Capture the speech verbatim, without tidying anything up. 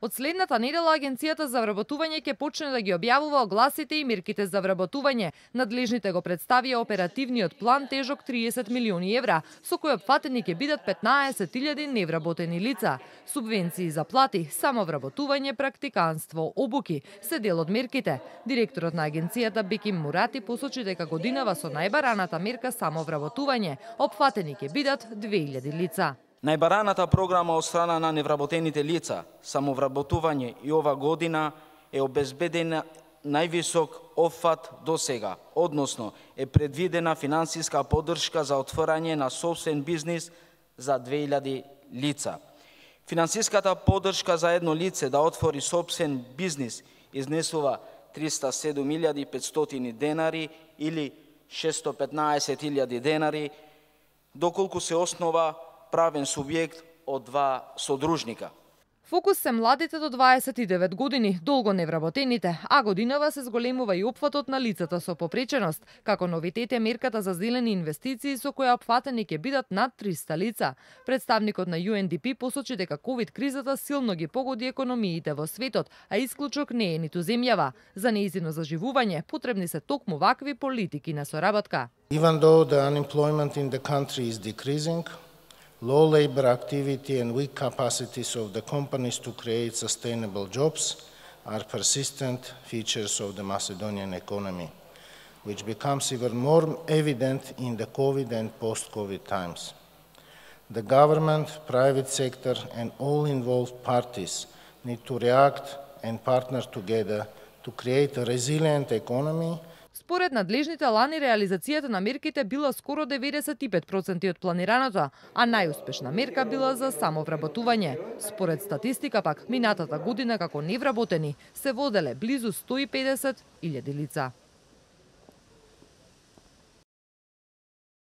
Од следната недела Агенцијата за вработување ќе почне да ги објавува огласите и мерките за вработување. Надлежните го представија оперативниот план тежок триесет милиони евра, со кој опфатени ќе бидат петнаесет илјади невработени лица. Субвенции за плати, самовработување, практиканство, обуки се дел од мерките. Директорот на агенцијата Беким Мурати посочи дека годинава со најбараната мерка самовработување опфатени ќе бидат две илјади лица. Најбараната програма од страна на невработените лица, самовработување и ова година е обезбедена највисок опфат до сега, односно е предвидена финансиска поддршка за отворање на сопствен бизнис за две илјади лица. Финансиската поддршка за едно лице да отвори сопствен бизнис изнесува триста и седум илјади петстотини денари или шестстотини и петнаесет илјади денари, доколку се основа правен субјект од два содружника. Фокус се младите до дваесет и девет години, долго невработените, а годинава се зголемува и опфатот на лицата со попреченост. Како новитет е мерката за зелени инвестиции со која опфатени ќе бидат над триста лица. Представникот на Ю Ен Ди Пи посочи дека ковид кризата силно ги погоди економиите во светот, а исклучок не е ниту земјава. За нејзино заживување потребни се токму вакви политики на соработка. Even though the unemployment in the country is decreasing, low labor activity and weak capacities of the companies to create sustainable jobs are persistent features of the Macedonian economy, which becomes even more evident in the COVID and post-COVID times. The government, private sector and all involved parties need to react and partner together to create a resilient economy. Според надлежните лани реализацијата на мерките била скоро деветдесет и пет проценти од планираното, а најуспешна мерка била за самовработување. Според статистика пак, минатата година како невработени се воделе близу сто и педесет илјади лица.